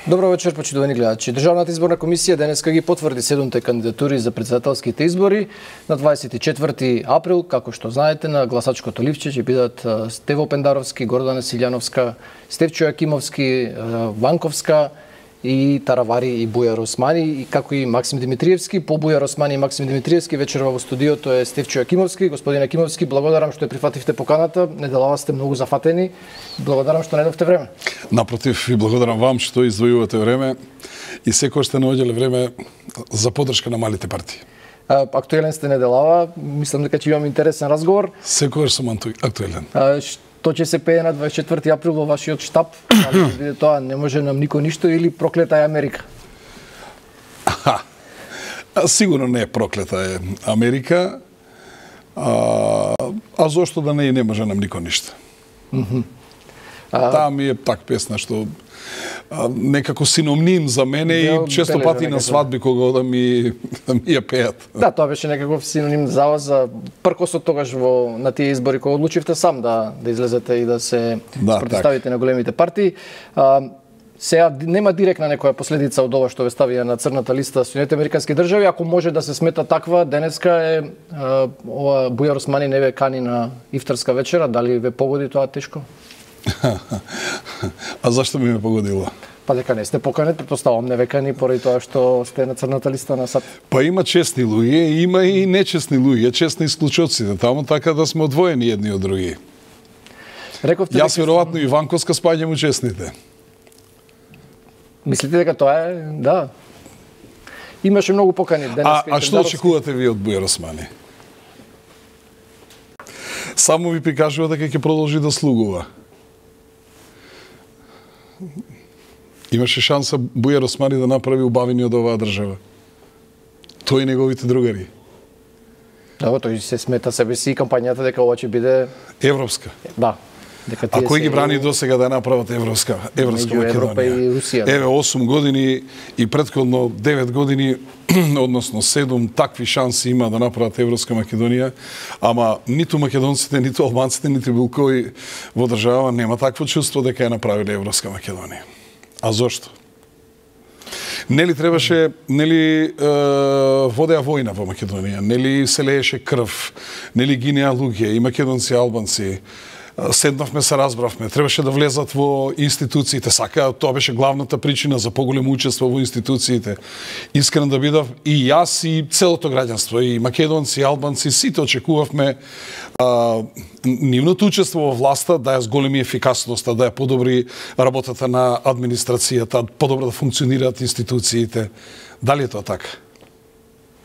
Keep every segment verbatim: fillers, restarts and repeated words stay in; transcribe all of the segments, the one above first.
Добро вечер, почитувани гледачи. Државната изборна комисија денеска ги потврди седумте кандидатури за претседателските избори на дваесет и четврти април, како што знаете, на гласачкото ливче ќе бидат Стево Пендаровски, Гордана Силјановска, Стефчо Јакимовски, Ванковска и Таравари и Бујар Османи, и како и Максим Димитриевски. По Бујар Османи и Максим Димитриевски вечерва во студиото е Стефчо Јакимовски. Господин Јакимовски, благодарам што ја прифативте поканата. Неделава сте многу зафатени. Благодарам што најдовте време. Напротив, и благодарам вам што издвојувате време и секој сте наоѓале време за поддршка на малите партии. Актуелен сте неделава. Мислам дека ќе имам интересен разговор. Секогаш сум актуелен. Што ќе се пее на дваесет и четврти април во вашиот штаб? Дали ќе биде тоа не може нам никој ништо или проклета е Америка? Аха. Сигурно не е проклета е Америка. А, а зошто да не и не може нам никој ништо? Mm -hmm. а... Таа ми е так песна што а, некако синоним за мене и често пати на свадби кога да ми да ми ја пеат. Да, тоа беше некаков синоним за вас, за пркосот тогаш во на тие избори кога одлучивте сам да да излезете и да се да, протиставите так на големите партии. А, сега нема директна некоја последица од ова што ве ставија на црната листа Соединетите американски држави, ако може да се смета таква, денеска е а, ова Бујар Османи не ве кани на ифтарска вечера, дали ве погоди тоа тешко? А зашто ми ме погодило? Па дека не сте поканет, претпоставувам не векани поради тоа што сте на црната листа на САД. Па има честни луѓе, има и нечестни луѓе, честни исклучоците, таму така да сме одвоени едни од други. Рековте Јас веројатно и Ванковска спаѓам у честните. Мислите дека тоа е, да. Имаше многу покани денеска. А, а што очекувате ви од Бујар Османи? Само ви прикажува дека ќе продолжи да слугува. Имаше шанса Бујар Османи да направи убавини од оваа држава. Тој и неговите другари. Да, тој се смета себе си и кампањата дека ова ќе биде европска. Да. Дека а кој ги брани до сега да направат европска, европска Македонија? Европа и Русија. Еве осум години и претходно девет години, односно седум такви шанси има да направат европска Македонија, ама ниту македонците, ниту албанците, ниту било кој во држава нема такво чувство дека ја направиле европска Македонија. А зошто? Нели требаше, нели е, водеа војна во Македонија, нели се лееше крв, нели гинеа луѓе, и македонци и албанци. Седнавме, се разбравме, требаше да влезат во институциите, сака, тоа беше главната причина за поголемо учество во институциите. Искрен да бидав и јас и целото граѓанство, и македонци, и албанци, сите очекувавме а, нивното учество во власта да ја зголеми ефикасноста, да ја подобри работата на администрацијата, подобро да функционираат институциите. Дали е тоа така?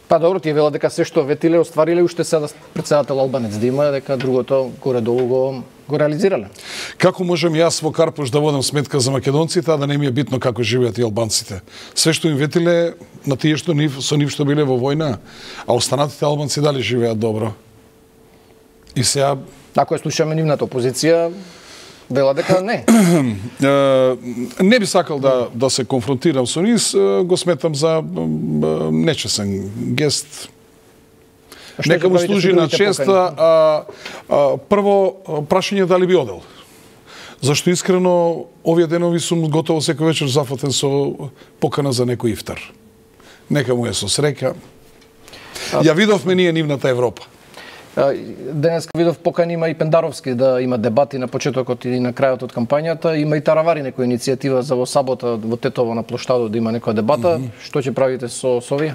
Па добро, тие велат дека се што ветиле оствариле, уште сега претседател албанец да има, дека другото горе-долу го, го реализирале. Како можам јас во Карпуш да водам сметка за македонците, а да не ми е битно како живеат и албанците? Се што им ветиле на тие што нив, со нив што биле во војна, а останатите албанци дали живеат добро? И сега... Ако ја слушаме нивната опозиција, вела дека не. Не би сакал да, да се конфронтирам со нив, го сметам за нечесен гест. Нека му служи на честа. А, а, прво, прашање дали би одел. Зашто искрено, овие денови сум готово секој вечер зафатен со покана за некој ифтар. Нека му е со среќа. Ја видовме ние нивната Европа. Денес видов покани има и Пендаровски да има дебати на почетокот и на крајот од кампањата. Има и Таравари некоја иницијатива за во сабота во Тетово на плоштадот да има некоја дебата. Mm -hmm. Што ќе правите со, со овие?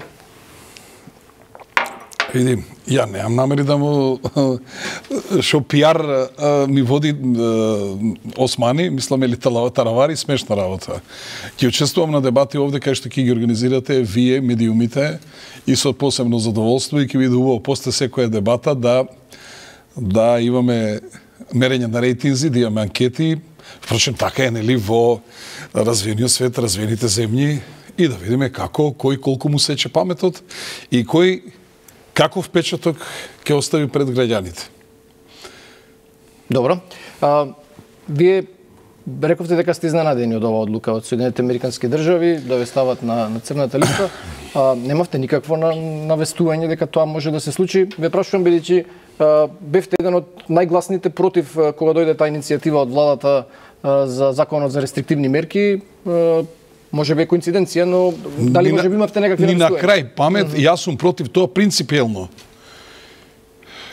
Види, ја немам намери да му шо пиар ми води Османи, мислам или Таравари, смешна работа. Ќе учествувам на дебати овде кај што ќе ги организирате вие, медиумите, и со посебно задоволство, и ќе биде убаво после секоја дебата да да имаме мерење на рейтинзи, да имаме анкети. Впрочем, така е, нели, во развиениот свет, развиените земји, и да видиме како, кој колку му сече паметот и кој каков печаток ќе остави пред граѓаните. Добро. А, вие рековте дека сте изненадени од оваа одлука од Соединетите американски држави да ве стават на, на црната листа. А, немавте никакво на, навестување дека тоа може да се случи. Ве прашувам бидејќи бевте еден од најгласните против кога дојде таа иницијатива од владата а, за законот за рестриктивни мерки. А, Може би е коинциденција, но дали може би имавте некакви ни на навестувања? крај памет, mm -hmm. јас сум против тоа принципиелно.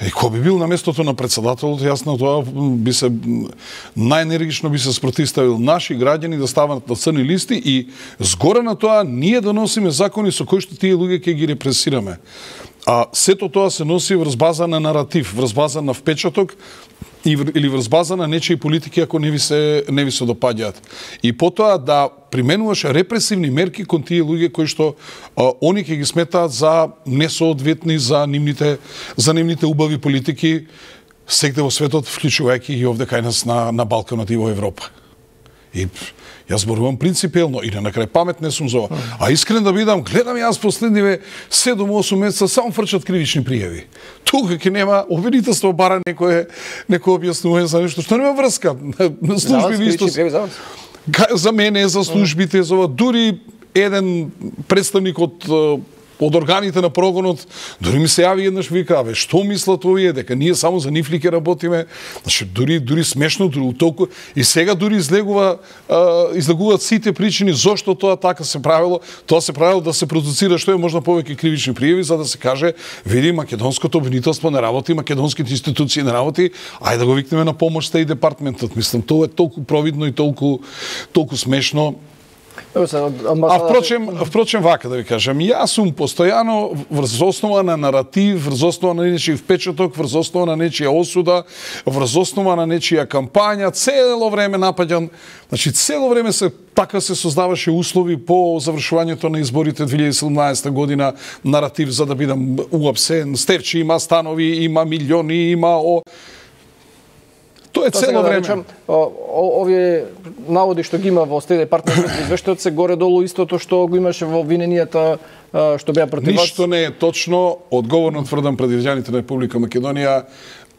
И кој би бил на местото на председателот, јас на тоа би се најенергично би се спротивставил наши граѓани да стават на црни листи и згора на тоа ние да носиме закони со кои што тие луѓе ќе ги репресираме. А сето тоа се носи врз база на наратив, врз база на впечаток или врз база на нечии политики ако не ви се не ви се допаѓаат. И потоа да применуваш репресивни мерки кон тие луѓе кои што а, они ќе ги сметаат за несоодветни за нивните за нивните убави политики сегде во светот, вклучувајќи и овде кај нас на на Балканот и во Европа. И јас зборувам принципиелно и на крај памет не сум за ова. А искрен да бидам, гледам јас последниве седум-осум месеца само фрчат кривични пријави. Тука ќе нема обвинителство бара некое некое објаснување за нешто што нема врска. Служби ви исто за мене, за службите, за дури еден представник од од органите на прогонот, дури ми се јави еднаш вика, абе, што мислат овие, дека ние само за нив ли ќе работиме? Значи, дури, дури смешно, дури толку... И сега дури излегува, а, излегуваат сите причини зошто тоа така се правило. Тоа се правило да се продуцира што е можна повеќе кривични пријави, за да се каже, види, македонското обвинителство не работи, македонските институции не работи, ајде да го викнеме на помош и департментот. Мислам, тоа е толку провидно и толку, толку смешно. А впрочем, впрочем вака да ви кажам, јас сум постојано врз основа на наратив, врз основа на нечиј впечаток, врз основа на нечија осуда, врз основа на нечија кампања, цело време напаѓан, значи цело време се така се создаваше услови по завршувањето на изборите две илјади и седумнаесета година, наратив за да бидам уапсен, Стефчи има станови, има милиони, има о Тоа е цело време. Да речам, овие наводи што ги има во Стеј департамент извештајот се горе-долу истото што го имаше во обвиненијата што беа против вас. Ништо не е точно, одговорно тврдам пред граѓаните на Република Македонија,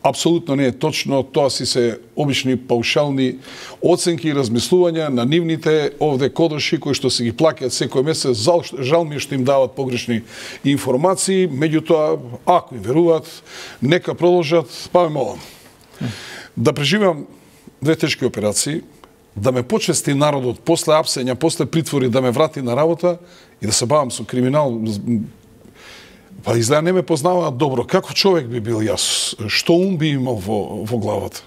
апсолутно не е точно, тоа си се обични паушални оценки и размислувања на нивните овде кодоши кои што се ги плаќаат секој месец. Жал, жал ми е што им дават погрешни информации, меѓутоа ако им веруваат, нека продолжат, па ме молам. Да преживам две тешки операции, да ме почести народот после апсења, после притвори, да ме врати на работа и да се бавам со криминал. Па изгледа не ме познаваат добро. Како човек би бил јас? Што ум би имал во, во главата?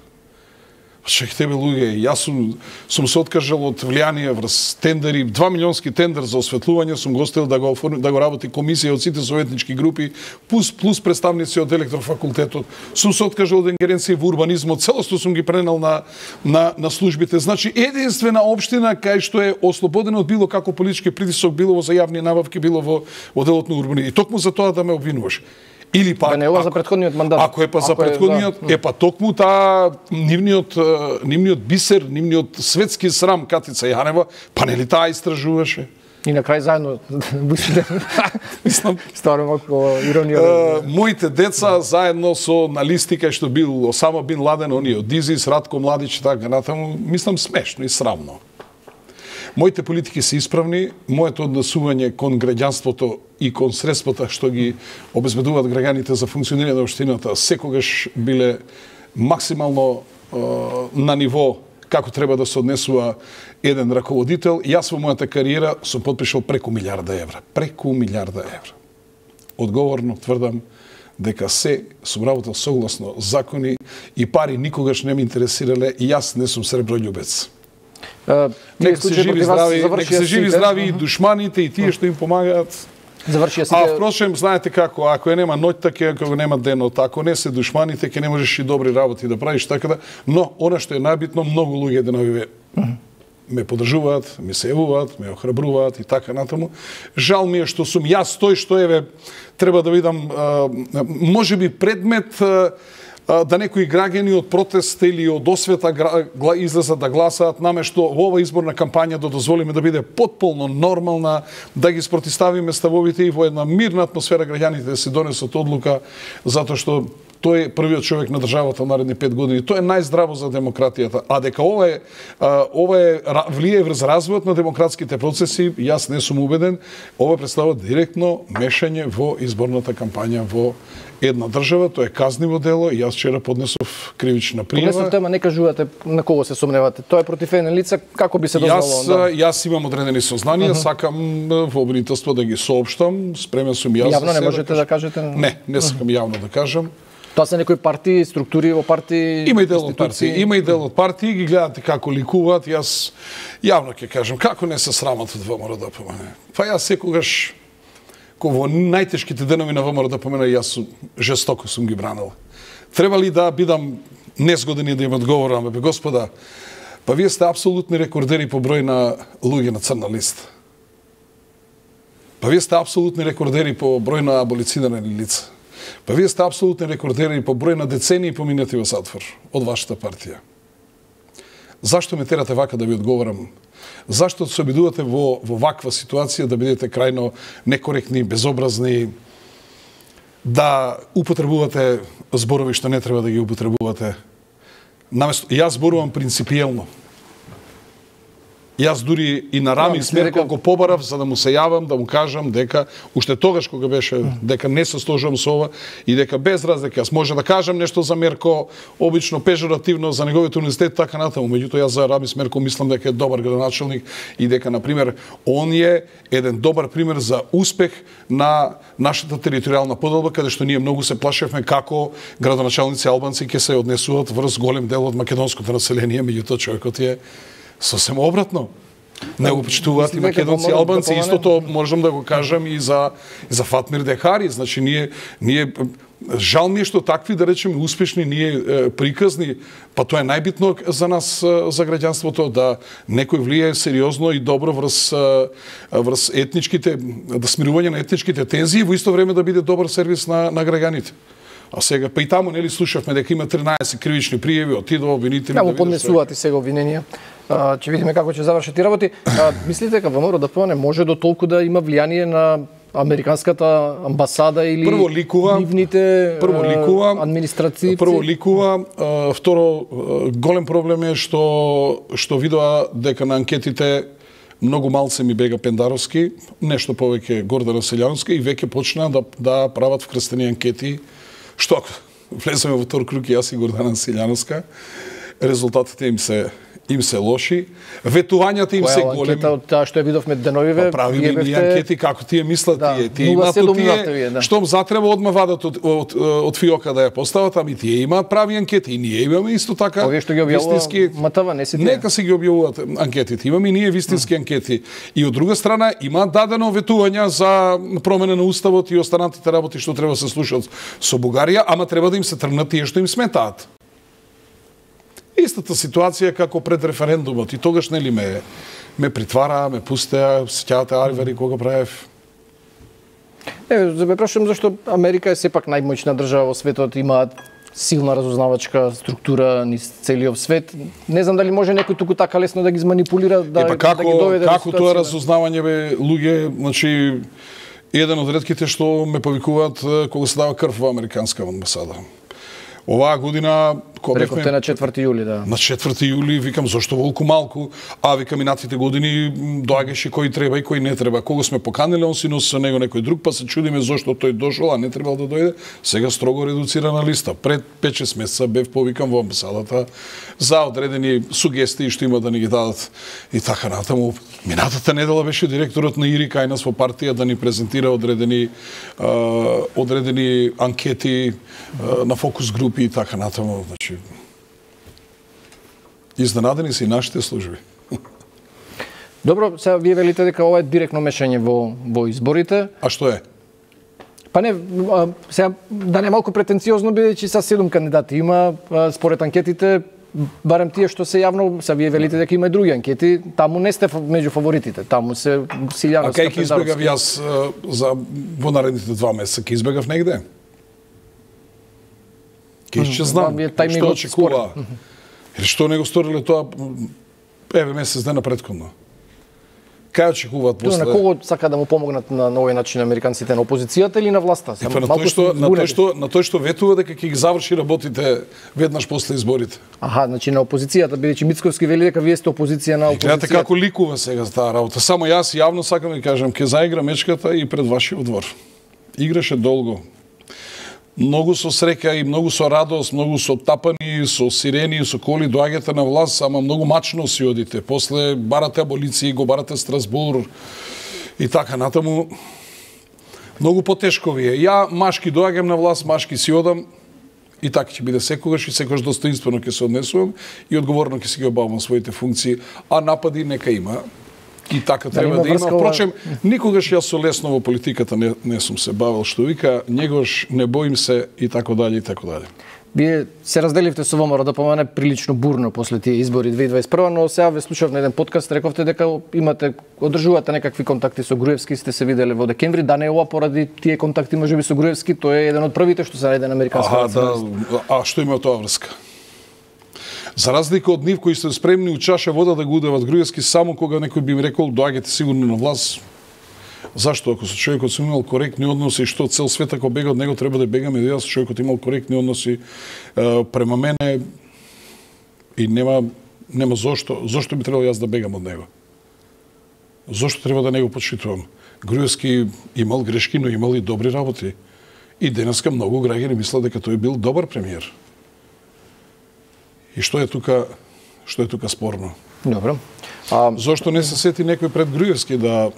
Чек тебе луѓе, јас сум, сум се откажал од влијание врз тендери, два милионски тендер за осветлување, сум го оставил да го, да го работи комисија од сите советнички групи, плюс, плюс представници од електрофакултетот, сум се откажал од ингеренција во урбанизмот, целосно сум ги пренел на, на, на службите. Значи, единствена општина кај што е ослободена од било како политички притисок, било во за јавни набавки, било во, во делот на урбанизм. И токму за тоа да ме обвинуваш. Или пак, да не е за претходниот мандат. Ако е па за претходниот, е, да. е па токму таа нивниот нивниот бисер, нивниот светски срам Катица Јанева, па нели таа истражуваше? И на крај заедно мислам стварно малку иронија. Uh, моите деца заедно со на листи кај што бил Осама бин Ладен, оние од Дизис, Радко Младич и така натаму, мислам смешно и срамно. Моите политики се исправни, моето однесување кон граѓанството и кон средствата што ги обезбедуваат граѓаните за функционирање на општината секогаш биле максимално е, на ниво како треба да се однесува еден раководител. Јас во мојата кариера сум потпишал преку милиарда евра. Преку милиарда евра. Одговорно тврдам дека се сум работел согласно закони и пари никогаш не ме интересирале и јас не сум среброљубец. Uh, нека се живи здрави, нека се живи здрави и душманите и тие што им помагаат. Завршија сите. А впрочем, знаете како, ако е нема ноќта, ќе ако нема денот, ако не се душманите, ќе не можеш и добри работи да правиш, така да. Но она што е најбитно, многу луѓе деновиве uh -huh. ме поддржуваат, ме се јавуваат, ме охрабруваат и така натаму. Жал ми е што сум јас тој што еве треба да видам можеби предмет да некои граѓани од протест или од освета излезат да гласаат наместо во ова изборна кампања да дозволиме да биде потполно нормална, да ги спротиставиме ставовите и во една мирна атмосфера граѓаните да се донесат одлука, затоа што тој е првиот човек на државата во наредни пет години. Тоа е најздраво за демократијата. А дека ова е ова е влие врз развојот на демократските процеси, јас не сум убеден. Ова представува директно мешање во изборната кампања во една држава, тоа е казниво дело и јас вчера поднесов кривична пријава. Поднесов тема, не кажувате на кого се сомневате. Тоа е против еден лица, како би се дозволило? Јас, да? јас имам одредени сознанија, uh -huh. сакам во обвинителство да ги соопштам, спремен сум јас. Јавно не можете да, да кажете? Не, не сакам uh -huh. јавно да кажам. Тоа се некои партии, структури во партии, Има и дел од партии, има и дел од партии, ги гледате како ликуваат. Јас јавно ќе кажам, како не се срамат од ВМРО-ДПМН. Па јас секогаш во најтешките денови на ВМРО-ДПМН јас жестоко сум ги бранил. Треба ли да бидам незгоден и да им одговорам, бе господа, па вие сте апсолутни рекордери по број на луѓе на црна листа. Па вие сте апсолутни рекордери по број на аболицирани лица. Па вие сте апсолутни рекордери по број на децении поминати во затвор од вашата партија. Зашто ме терате вака да ви одговорам? Зашто се обидувате во, во ваква ситуација да бидете крајно некоректни, безобразни, да употребувате зборови што не треба да ги употребувате? Наместо, јас зборувам принципиелно. Јас дури и на Рами Смерков го побарав за да му се јавам, да му кажам дека уште тогаш кога беше дека не се сложувам со ова и дека без разлика јас може да кажам нешто за Мерко, обично пежоративно за неговиот универзитет, така натаму. Меѓутоа јас за Рами Смерков мислам дека е добар градоначалник и дека на пример он е еден добар пример за успех на нашата територијална поделба, каде што ние многу се плашевме како градоначалници албанци ќе се однесуваат врз голем дел од македонското население, меѓутоа човекот е сосем обратно. Не го почитуваат и македонци и албанци. Истото можам да го кажам и за, и за Фатмир Дехари. Значи, ние, ние жал ми е што такви, да речеме, успешни, ние е, приказни, па тоа е најбитно за нас, за граѓанството, да некој влие сериозно и добро врз, врз етничките, да смирување на етничките тензии, во исто време да биде добар сервис на, на граѓаните. А сега, па и таму, нели, слушавме дека има тринаесет кривични пријави, отидува обвинители. Како поднесуваат и сега обвиненија? Ќе видиме како ќе завршат и работи. А, мислите дека ВМРО-ДПМН може до толку да има влијание на американската амбасада или прво ликува, нивните прво ликува, администрации? Прво ликува, а, второ голем проблем е што што видоа дека на анкетите многу малце ми бега Пендаровски, нешто повеќе Гордана Селјановска и веќе почна да да прават вкрстени анкети, што влеземе во втор круг јас и Гордана Селјановска, резултатите им се им се лоши, ветувањата им се големи. Која од таа што ја видовме деновиве? Па правиме ние бевте... анкети како тие мислат да, тие. Тие имаат тие, да. Штом затреба одма вадат од, од, од фиока да ја постават, ами тие имаат прави анкети и ние имаме исто така. Овие што ги објавува МТВ, не си тие. Нека си ги објавуваат анкетите. Имаме и ние вистински анкети. И од друга страна имаат дадено ветувања за промена на уставот и останатите работи што треба да се слушаат со Бугарија, ама треба да им се тргнат тие што им сметаат. Истата ситуација како пред референдумот и тогаш нели ме ме притвара, ме пустеа, сеќавате Арвери кога правев. Е, за ме прашувам зашто Америка е сепак најмоćна држава во светот, имаат силна разузнавачка структура низ целиот свет. Не знам дали може некој туку така лесно да ги изманипулира, да, е, па како, да ги доведе како тоа разузнавање бе луѓе, значи еден од ретките што ме повикуваат кога се дава крв во американска амбасада. Оваа година кога бевме на четврти јули, да. На четврти јули викам зошто волку малку, а викам минатите години доаѓаше кој треба и кој не треба. Кога сме поканиле, он си носи со него некој друг, па се чудиме зошто тој дошол, а не требал да дојде. Сега строго редуцирана листа. Пред пет-шест месеца бев повикан во амбасадата за одредени сугестии што има да ни ги дадат и така натаму. Минатата недела беше директорот на Ири кај нас во партија да ни презентира одредени uh, одредени анкети uh, на фокус групи и така натаму. Значи, изненадени се и нашите служби. Добро, сега вие велите дека ова е директно мешање во во изборите. А што е? Па не, а, сега да не малку претенциозно бидејќи са седум кандидати има, а, според анкетите барем тие што се јавно, са вие велите дека има и други анкети, таму не сте меѓу фаворитите, таму се Силјановска. А кај ќе избегав јас за во наредните два месеца, ќе избегав негде? Ке ќе знам што очекува. Или што не го сториле тоа еве месец дена претходно. Кај очекуваат после? На кого сака да му помогнат на овој начин американците, на опозицијата или на власта? Е, па, на тој што на тој што на тој што ветува дека ќе ги заврши работите веднаш после изборите. Аха, значи на опозицијата, бидејќи Мицковски вели дека вие сте опозиција на опозицијата. Гледате како ликува сега за таа работа. Само јас јавно сакам да кажам, ќе заигра мечката и пред вашиот двор. Играше долго. Многу со среќа и многу со радост, многу со тапани, со сирени, со коли доаѓате на власт, ама многу мачно си одите. После барате аболиции, го барате Страсбур и така натаму. Многу потешко ви е. Ја машки доаѓам на власт, машки си одам и така ќе биде секогаш и секогаш достоинствено ќе се однесувам и одговорно ќе си ги обавам своите функции, а напади нека има. И така треба да, да има. Впрочем, никогаш јас со лесно во политиката не, не сум се бавил, што вика, негош не боим се и така дали и така дали. Вие се разделивте со ВМРО да помане прилично бурно после тие избори две илјади дваесет и прва, но сега ве слушав на еден подкаст, рековте дека имате, одржувате некакви контакти со Груевски, сте се виделе во декември, да не е ова поради тие контакти можеби со Груевски, тој е еден од првите што се најде на американска националист. Да, а што има тоа врска? За разлика од нив кои се спремни у чаша вода да го удават Груевски само кога некој би им рекол доаѓате сигурно на власт. Зашто ако со човекот сум имал коректни односи, што цел свет ако бега од него треба да бегаме, да јас човекот имал коректни односи е, према мене и нема нема зошто, зошто би требало јас да бегам од него. Зошто треба да не го почитувам? Груевски имал грешки, но имал и добри работи. И денеска многу граѓани мислат дека тој бил добар премиер. И што е тука, што е тука спорно? Добро. А зошто не се сети некој пред Груевски да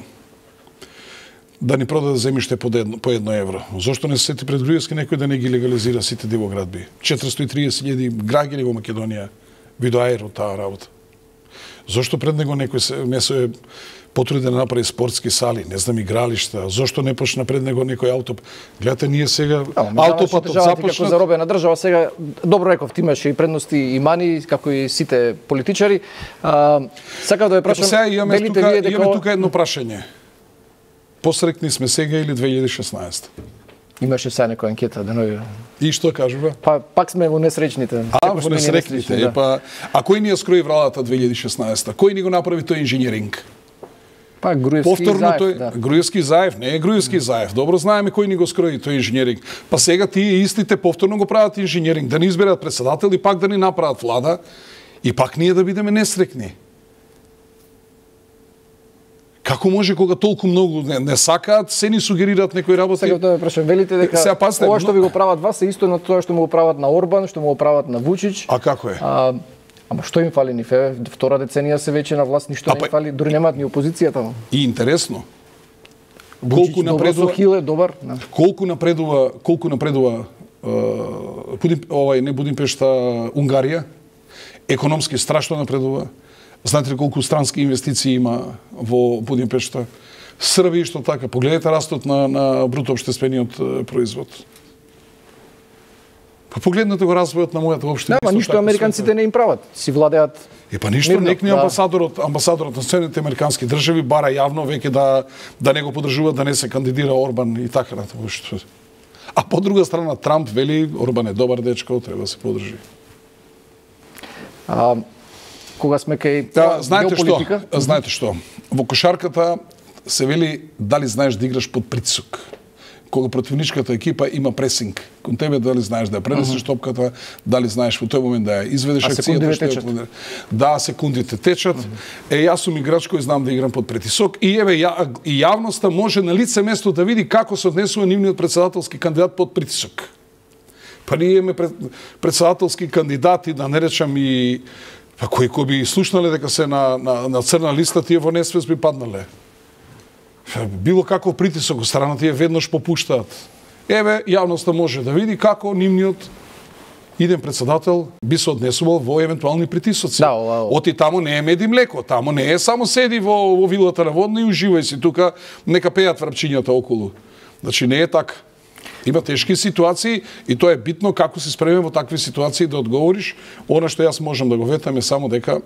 да ни продаде земјиште по едно, по едно евро? Зошто не се сети пред Груевски некој да не ги легализира сите дивоградби? четиристотини и триесет илјади граѓани во Македонија видоаер од таа работа. Зошто пред него некој се не се потруди да направи спортски сали, не знам, игралишта? Зошто не почна пред него некој аутоп? Гледате, ние сега аутопатот започна... Како заробена држава, сега, добро реков, ти имаше и предности и мани, како и сите политичари. А, сакав да ве прашам, сега имаме велите тука, вие дека... имаме тука едно прашање. Посрекни сме сега или две илјади и шеснаесета? Имаше сега некоја анкета, да не... И што кажува? Па, пак сме во несречните. А, во несречните. Да. Па, а кој ни ја скрои владата две илјади и шеснаесета? Кој ни го направи тој инженеринг? Па, Груевски Повторно Заев, тој, да. Груевски Заев, не е Груевски Заев. Добро знаеме кој ни го скрои тој инженеринг. Па сега тие истите повторно го прават инженеринг, да ни изберат председател и пак да ни направат влада и пак ние да бидеме несрекни. Како може кога толку многу не, не сакаат, се ни сугерираат некои работи? Сега да ме прашам, велите дека сега, пасте, ова што ви го прават вас е исто на тоа што му го прават на Орбан, што му го прават на Вучич. А како е? А, ама што им фали нив? Е, втора деценија се веќе на власт, ништо а, не им фали, дури немаат ни опозицијата. И интересно. Вучич колку напредува Хил е добар. Да. Колку напредува, колку напредува uh, Будим, овај не Будимпешта, Унгарија? Економски страшно напредува. Знаете ли колку странски инвестиции има во Будимпешта? Србија што така. Погледнете растот на, на бруто општествениот производ. Па погледнете го развојот на мојата општина. Да, ништо американците не им прават. Си владеат. Е па ништо, некни да. амбасадорот, амбасадорот на Соединетите американски држави бара јавно веќе да да не го поддржува, да не се кандидира Орбан и така натаму. А по друга страна Трамп вели Орбан е добар дечко, треба да се поддржи. А кога сме кај да, знаете што? Знаете што? Во кошарката се вели дали знаеш да играш под притисок. Кога противничката екипа има пресинг кон тебе, дали знаеш да ја пренесеш uh -huh. топката, дали знаеш во тој момент да ја изведеш акцијата, што е... Да, секундите течат. Uh -huh. Е, јас сум играч кој знам да играм под притисок и еве ја, и јавноста може на лице место да види како се однесува нивниот председателски кандидат под притисок. Па ние имаме пред, председателски кандидати, да не речам и па кои кои би слушнале дека се на, на, на црна листа, тие во несвест би паднале. Било каков притисок од страна тие веднаш попуштаат. Еве, јавноста може да види како нивниот иден председател би се однесувал во евентуални притисоци. Да, ова... Оти тамо не е мед и млеко, тамо не е само седи во, во вилата на Водна и уживај си тука, нека пеат врапчињата околу. Значи не е така. Има тешки ситуации и тоа е битно како се спреме во такви ситуации да одговориш. Она што јас можам да го ветам е само дека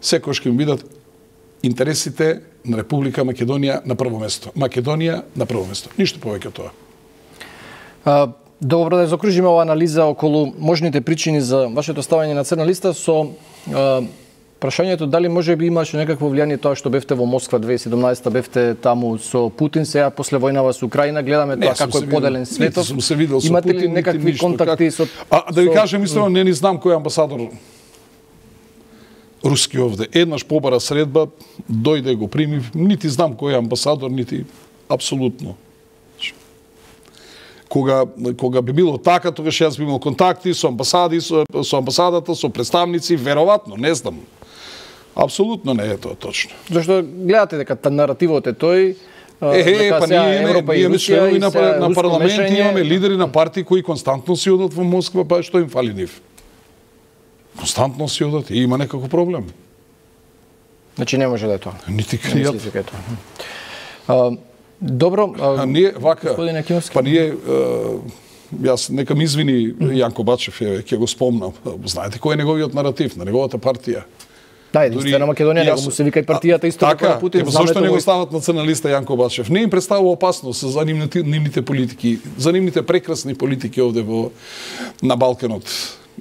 секојаш ќе бидат интересите на Република Македонија на прво место. Македонија на прво место. Ништо повеќе од тоа. А, добро да закружиме оваа анализа околу можните причини за вашето ставање на црна листа со а, Прашањето дали може би имаше некакво влијание тоа што бевте во Москва две илјади и седумнаесета, бевте таму со Путин, сега после војнава со Украина, гледаме тоа како е поделен светот. Сум се видел со Имате Путин, ли некакви ништо, контакти как... со... А да ви со... кажем истина, не ни знам кој е амбасадор руски овде. Еднаш побара средба, дојде го прими, нити знам кој е амбасадор, нити апсолутно. Кога, кога би било така, тогаш јас би имал контакти со амбасади, со, со амбасадата, со представници, веројатно, не знам. Апсолутно не е тоа точно. Зашто гледате дека наративот е тој, Е, е, па ние имаме, ние имаме членови на, на парламент, мешање... имаме лидери на партии кои константно си одат во Москва, па што им фали нив? Константно си одат и има некако проблем. Значи не може да е тоа. Нити кријат. Добро, а, а ние вака, па ние, а, јас нека ми извини Јанко Бачев, е, ќе го спомнам. Знаете кој е неговиот наратив на неговата партија? Да, единствена Македонија, него му се вика и партијата исто така на Путин. Така, зашто не го стават националиста Јанко Бачев? Не им представува опасност за нивните, нивните политики, за нивните прекрасни политики овде во на Балканот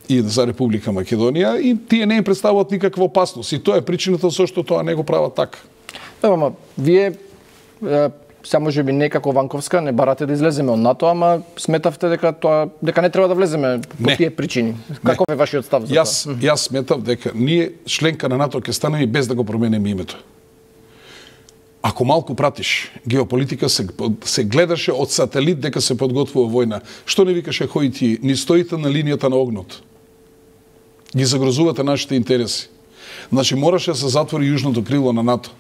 и за Република Македонија, и тие не им представуваат никаква опасност. И тоа е причината зашто тоа не го прават така. Да, ама вие сега може би некако Ванковска не барате да излеземе од НАТО, ама сметавте дека тоа дека не треба да влеземе по тие причини. Каков е вашиот став за јас, тоа? Јас сметав дека ние членка на НАТО ќе станеме без да го променеме името. Ако малку пратиш геополитика, се, се гледаше од сателит дека се подготвува војна. Што не викаше Хојти, ни стоите на линијата на огнот. Ги загрозувате нашите интереси. Значи мораше да се затвори јужното крило на НАТО.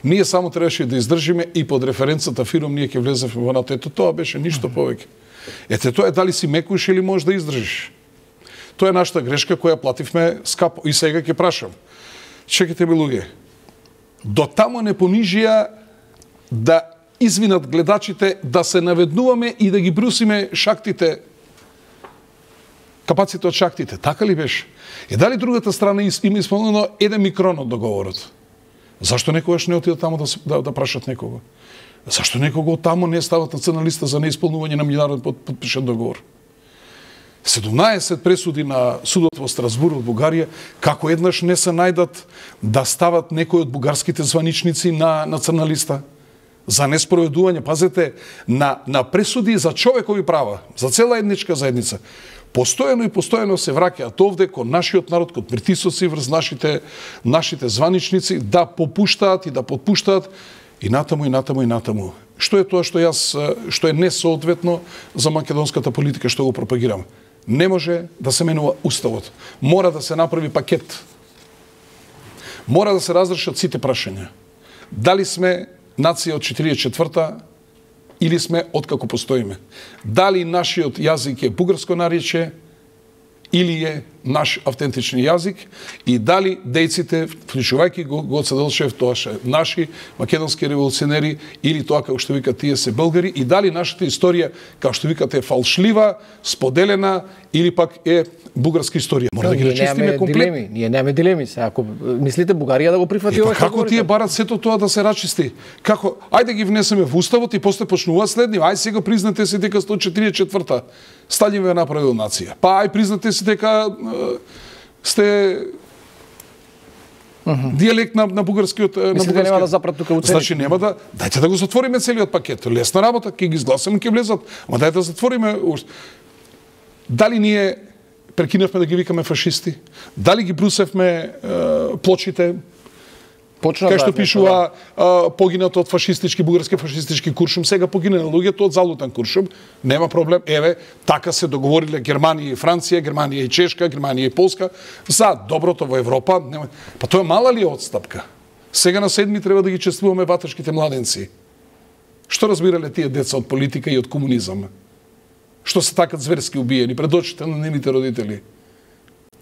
Ние само требаше да издржиме и под референцата фиром ние ќе влеземе во НАТО. Ето тоа беше ништо повеќе. Ете тоа е дали си мекуш или можеш да издржиш. Тоа е нашата грешка која плативме скапо. И сега ќе прашам. Чекайте ми луѓе. До тамо не понижија да извинат гледачите да се наведнуваме и да ги брусиме шактите, капаците од шактите. Така ли беше? И дали другата страна има исполнено еден микрон од договорот? Зашто некогаш не отидат тамо да, да, да прашат некого? Зашто некого од тамо не стават националиста за неисполнување на меѓународен подпишан договор? седумнаесет пресуди на судот во Страсбур од Бугарија, како еднаш не се најдат да стават некои од бугарските званичници на националиста за неспроведување, пазете, на, на пресуди за човекови права, за цела етничка заедница. Постојано и постојано се враќаат овде кон нашиот народ, кон притисоци врз нашите, нашите званичници да попуштаат и да подпуштаат и натаму и натаму и натаму. Што е тоа што јас што е несоодветно за македонската политика што го пропагирам? Не може да се менува уставот. Мора да се направи пакет. Мора да се разрешат сите прашања. Дали сме нација од четиридесет и четврта или сме откако постоиме? Дали нашиот јазик е бугарско наречје или е наш автентични јазик и дали дејците, вклучувајќи го Гоце Делчев, тоа ше наши македонски револуционери или тоа како што викат тие се българи и дали нашата историја, како што викате, е фалшлива, споделена или пак е бугарска историја. Мора да ги рачистиме комплетно. Ние немаме дилеми. Сега, ако мислите Бугарија да го прифати ова, што како тие барат сето тоа да се рачисти? Како? Ајде ги внесеме во уставот и после почнуваат следни. Ај сега признате се дека сто четиридесет и четврта Сталин ве направил нација. Па ај признате се дека е, сте uh -huh. дијалект на, на бугарскиот на бугарскиот. Нема да запрат тука уцени. Значи нема да, дајте да го затвориме целиот пакет. Лесна работа, ќе ги изгласаме, ќе влезат. Ама дајте да затвориме. Дали ние прекинавме да ги викаме фашисти? Дали ги брусевме е, плочите? Почна кај што да, пишува а, погинато од фашистички, бугарски фашистички куршум, сега погина на луѓето од залутен куршум, нема проблем. Еве, така се договориле Германија и Франција, Германија и Чешка, Германија и Полска за доброто во Европа. Нема... Па тоа мала ли е отстапка? Сега на седми треба да ги чествуваме ваташките младенци. Што разбирале тие деца од политика и од комунизам? Што се така зверски убиени пред очите на нивните родители?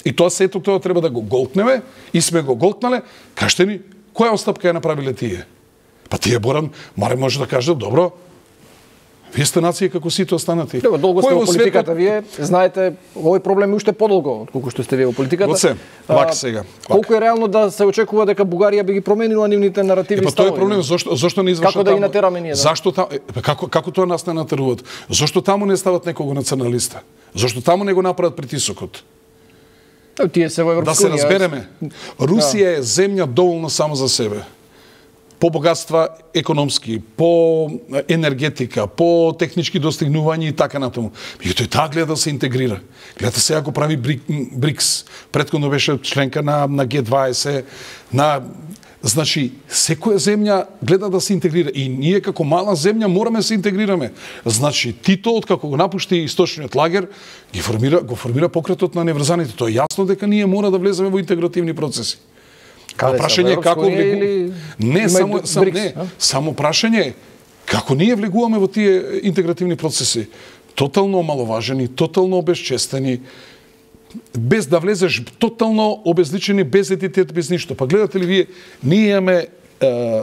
И тоа сето тоа треба да го голтнеме и сме го голтнале. Кажете ни, која отстапка ја направиле тие? Па тие Боран, маре може да кажат, добро, вие сте нација како сите останати. Добро, долго сте во политиката, вие знаете, овој проблем е уште подолго отколку што сте вие во политиката. Гоце, вака сега. Колку е реално да се очекува дека Бугарија би ги променила нивните наративи? Е, па тоа е проблем, зошто зошто не извршат како да ги натераме ние? Да? Зашто таму, како како тоа нас не натеруваат? Зошто таму не стават некого националиста? Зошто таму не го направат притисокот? Тие се во Европска Да се унија. разбереме. Русија е земја доволно само за себе. По богатства економски, по енергетика, по технички достигнувања и така натаму. Меѓутоа таа гледа да се интегрира. Гледа сега го прави БРИКС. Претходно беше членка на на Г дваесет, на значи секоја земја гледа да се интегрира и ние како мала земја мораме да се интегрираме. Значи Тито откако го напушти источниот лагер, ги формира го формира покретот на неврзаните. Тоа е јасно дека ние мора да влеземе во интегративни процеси. Каде прашање е како влегу... или... Не, само, сам, БРИКС, не, само прашање е како ние влегуваме во тие интегративни процеси. Тотално омаловажени, тотално обезчестени, без да влезеш, тотално обезличени, без етитет, без ништо. Па гледате ли вие, ние имаме е,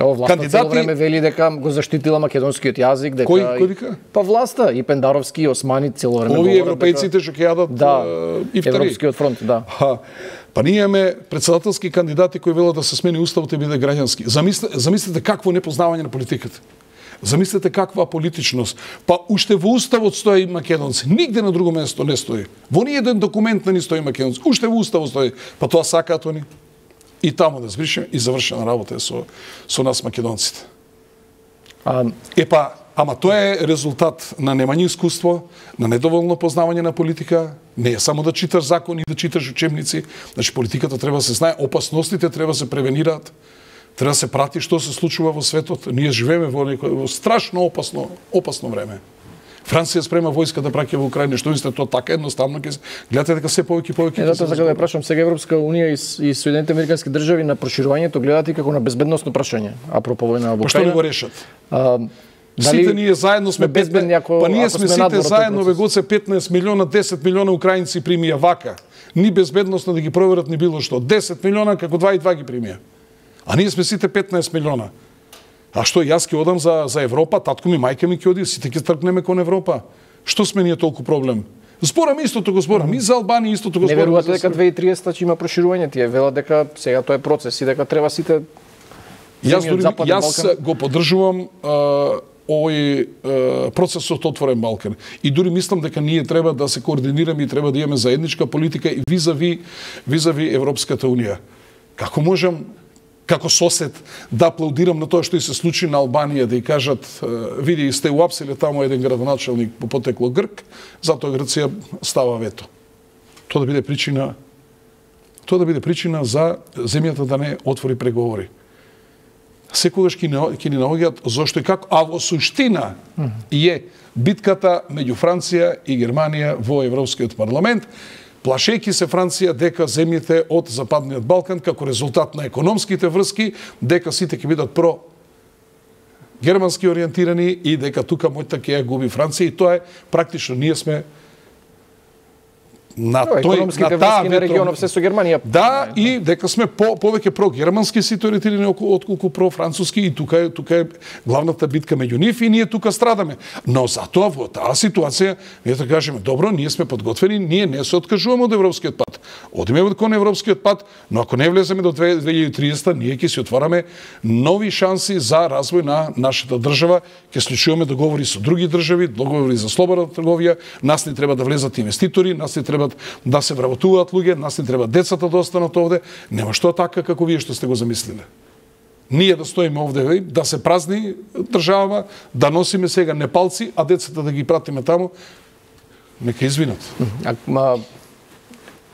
О, власта кандидати... цело време вели дека го заштитила македонскиот јазик, дека... Кој, кој вика? Па власта, и Пендаровски, и Османи цело време Овие говорат европејците што ќе јадат да, и втори. Европскиот фронт, да. Ха, па ние имаме председателски кандидати кои велат да се смени уставот и биде граѓански. Замислете, замислете какво непознавање на политиката. Замислете каква политичност. Па уште во уставот стои македонци. Нигде на друго место не стои. Во ни еден документ не ни стои македонци. Уште во уставот стои. Па тоа сакаат они. И таму да збришеме и завршена работа е со со нас македонците. А... Епа, ама тоа е резултат на немање искуство, на недоволно познавање на политика. Не е само да читаш закони, да читаш учебници. Значи политиката треба да се знае, опасностите треба да се превенираат. Треба да се прати што се случува во светот. Ние живееме во некој во страшно опасно, опасно време. Франција спрема војска да праќа во Украина, што мислите тоа така едноставно ќе гледате дека се повеќе и повеќе. Е, затоа сакам да ја прашам сега Европска унија и, и Соединетите американски држави на проширувањето гледате како на безбедносно прашање, апропо војна во Украина. Па што не го решат? А, дали сите ние заедно сме безбедни ако па ние ако сме сме сите заедно процес. вегоце петнаесет милиона, десет милиона украинци примија вака. Ни безбедносно да ги проверат ни било што. десет милиона како два и два ги примија. А ние сме сите петнаесет милиона. А што јас ќе одам за за Европа, татко ми, мајка ми ќе оди, сите ќе тргнеме кон Европа. Што сме ние толку проблем? Зборам истото го зборам, и за Албанија истото го Не зборам. верувате дека две тисачи и триесета ќе има проширување, тие велат дека сега тоа е процес и дека треба сите Јас земји од дури, Западен јас Балкан. го поддржувам а, овој а, процесот Отворен Балкан. И дури мислам дека ние треба да се координираме и треба да имаме заедничка политика и визави визави Европската унија. Како можам како сосед да аплаудирам на тоа што и се случи на Албанија, да и кажат, види, сте уапсиле таму еден градоначалник по потекло Грк, затоа Грција става вето. Тоа да биде причина тоа да биде причина за земјата да не отвори преговори. Секогаш ќе ни наоѓаат зошто и како, а во суштина е битката меѓу Франција и Германија во Европскиот парламент, плашејќи се Франција дека земјите од Западниот Балкан како резултат на економските врски, дека сите ќе бидат про германски ориентирани и дека тука мојта ќе ја губи Франција и тоа е практично ние сме на No, тој економските на таа врски на регионов се со Германија. Да, и дека сме по повеќе про германски сите ориентирани отколку про француски и тука е тука е главната битка меѓу нив и ние тука страдаме. Но затоа во таа ситуација ние да кажеме добро, ние сме подготвени, ние не се откажуваме од европскиот пат. Одиме кон европскиот пат, но ако не влеземе до две илјади и триесета, ние ќе си отвараме нови шанси за развој на нашата држава, ќе склучуваме договори со други држави, договори за слободна трговија, нас не треба да влезат инвеститори, нас не треба да се вработуваат луѓе, нас не треба децата да останат овде, нема што така како вие што сте го замислиле. Ние да стоиме овде, да се празни држава, да носиме сега непалци, а децата да ги пратиме таму, нека извинат. А, ма,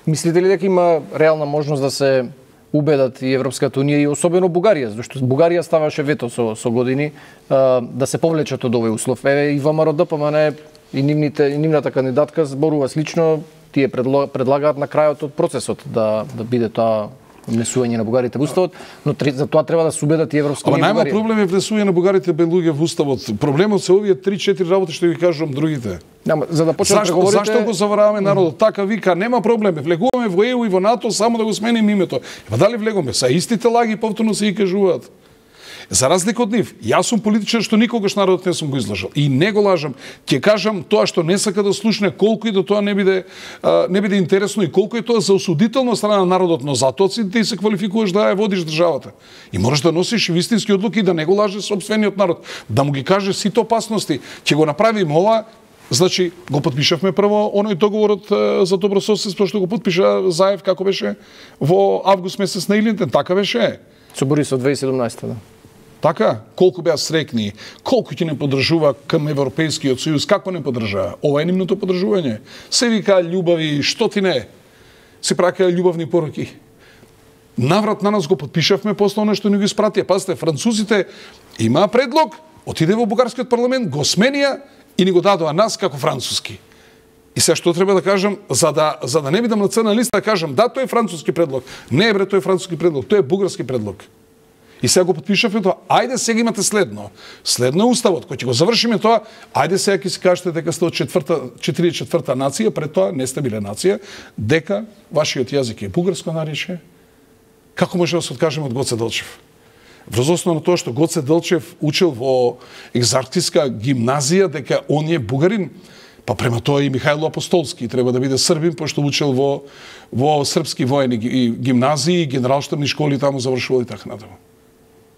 мислите ли дека има реална можност да се убедат и Европската унија и особено Бугарија, зашто Бугарија ставаше вето со со години а, да се повлечат од овој услов. Еве и ВМРО Д П М Н и нивните и нивната кандидатка зборува слично, тие предлагаат на крајот од процесот да да биде тоа внесување на бугарите во уставот, но за тоа треба да се убедат и Европска унија. Ама најма проблем е внесување на бугарите бе луѓе во уставот. Проблемот се овие три-четири работи што ги кажувам другите. Нема, за да почнат преговорите. Зашто го завараваме народот? Така вика, нема проблем. Влегуваме во Е У и во НАТО само да го сменим името. Па дали влегуваме? Са истите лаги повторно се и кажуваат. За разлика од нив, јас сум политичар што никогаш народот не сум го излажал. И не го лажам. Ќе кажам тоа што не сака да слушне, колку и да тоа не биде а, не биде интересно и колку е тоа за осудително страна на народот, но затоа си ти се квалификуваш да ја водиш државата. И можеш да носиш вистински одлуки и да не го лажеш сопствениот народ, да му ги кажеш сите опасности. Ќе го направиме ова Значи, го подпишавме прво оној договорот за добрососедство што го подпиша Заев, како беше, во август месец на Илинден, така беше. Со Борисов две илјади и седумнаесета, да. Така, колку беа срекни, колку ќе не подржува кам Европейскиот сојуз, како не подржава? Ова е нивното подржување. Се вика љубави, што ти не? Се праќаја љубавни пороки. Наврат на нас го подпишавме после оно што ни го испратија. Пазите, французите имаа предлог, отиде во бугарскиот парламент, го сменија и ни го дадоа нас како француски. И сега што треба да кажам, за да за да не бидам на црна листа, да кажам да, тој е француски предлог. Не бре, тој е француски предлог, тој е бугарски предлог. И сега го подпишавме тоа. Ајде сега имате следно. Следно е уставот, кој ќе го завршиме тоа. Ајде сега ќе си кажете дека сте од четврта, четиридесет и четврта нација, пред тоа не сте биле нација, дека вашиот јазик е бугарско наречие. Како може да се откажеме од Гоце Делчев? Врз основа на тоа што Гоце Делчев учил во екзархиска гимназија, дека он е бугарин, па према тоа и Михајло Апостолски треба да биде србин, пошто учил во во српски воени гимназии, генералштабни школи таму завршувал и така натаму.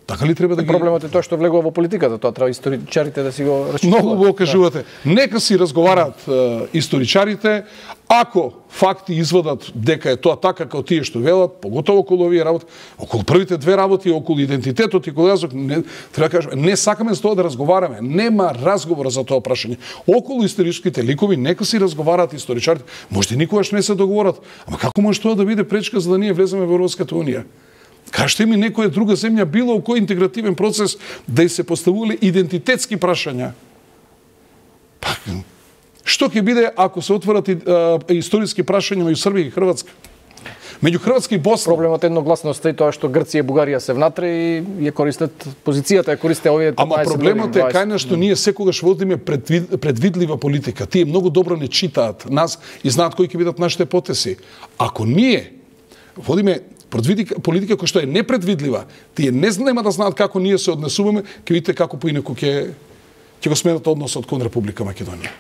Така ли треба да ги... Проблемот е тоа што влегува во политиката, тоа треба историчарите да си го расчистуваат. Многу го кажувате. Нека си разговараат е, историчарите, ако факти извадат дека е тоа така како тие што велат, поготово околу овие работи, околу првите две работи, околу идентитетот и околу јазик, не треба да кажеме, не сакаме за тоа да разговараме, нема разговор за тоа прашање. Околу историските ликови нека си разговараат историчарите. Можда никогаш не се договорат, ама како може тоа да биде пречка за да ние влеземе во Европската унија? Кажете ми некоја друга земја било кој интегративен процес да и се поставувале идентитетски прашања. Па, што ќе биде ако се отворат и, а, историски прашања меѓу Србија и Хрватска? Меѓу Хрватска и Босна. Проблемот е едногласноста и тоа што Грција и Бугарија се внатре и ја користат позицијата, ја користе овие Ама проблемот е кај на што ние секогаш водиме предвид, предвидлива политика. Тие многу добро не читаат нас и знаат кои ќе бидат нашите потеси. Ако ние водиме политика која што е непредвидлива, тие не нема да знаат како ние се однесуваме, ќе видите како поинаку ќе ќе го сменат односот кон Република Македонија.